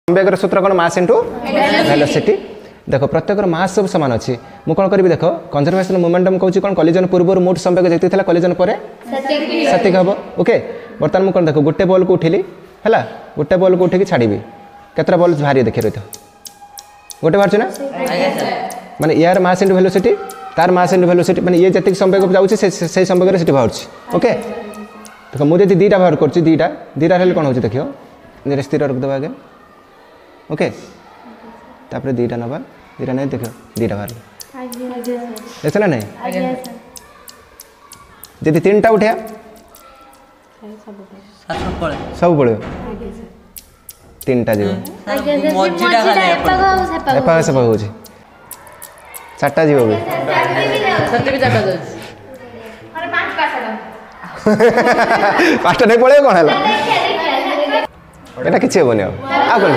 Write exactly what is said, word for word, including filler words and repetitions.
ସମ୍ବେଗର ସୂତ୍ର କ'ଣ ମାସ୍ into velocity ଦେଖ ପ୍ରତ୍ୟେକର ମାସ୍ ସବୁ ସମାନ ଅଛି ମୁଁ କ'ଣ କରିବି ଦେଖ କନଜରଭେସନ୍ ମୋମେଣ୍ଟମ୍ କହୁଛି କ'ଣ କଲିଜନ୍ ପୂର୍ବରୁ ମୋଟ ସମ୍ବେଗ ଯେତିକି ଥିଲା କଲିଜନ୍ ପରେ ସେତିକି ହେବ ଓକେ ବର୍ତ୍ତମାନ ମୁଁ କ'ଣ ଦେଖ ଗୋଟେ ବଲ୍କୁ ଉଠିଲି ହେଲା ଗୋଟେ ବଲ୍କୁ ଉଠିକି ଛାଡ଼ିବି କେତେଟା ବଲ୍ ବାହାରିବ ଦେଖି ରହିଥ ଗୋଟେ ବାହାରୁଛି ନା ମାନେ ୟାର ମାସ୍ ଇଣ୍ଟୁ ଭେଲୋସିଟି ତାର ମାସ୍ ଇଣ୍ଟୁ ଭେଲୋସିଟି ମାନେ ଇଏ ଯେତିକି ସମ୍ବେଗ ଯାଉଛି ସେ ସେଇ ସମ୍ବେଗରେ ସେଠି ବାହାରୁଛି ଓକେ ଦେଖ ମୁଁ ଯଦି ଦୁଇଟା ବାହାର କରୁଛି ଦୁଇଟା ଦୁଇଟା ହେଲେ କ'ଣ ହେଉଛି ଦେଖିବ ଦୁଇଟା ସ୍ଥିର ରଖିଦେବା ଆଗେ ଓକେ ତାପରେ ଦୁଇଟା ନେବା ଦୁଇଟା ନେଇ ଦେଖିବ ଦୁଇଟା ବାହାରିଲା ଦେଖ ନା ନାଇଁ ଯଦି ତିନିଟା ଉଠେଇବା ସବୁ ପଳେଇବ ତିନିଟା ଯିବ ଏପାଖ ସେପାଖ ହେଉଛି ଚାରିଟା ଯିବ ବି ଯାଉଛି ପାଞ୍ଚଟା ନେଇ ପଳେଇବ କ'ଣ ହେଲା ଏଇଟା କିଛି ହେବନି ଆଉ ଆଉ କ'ଣ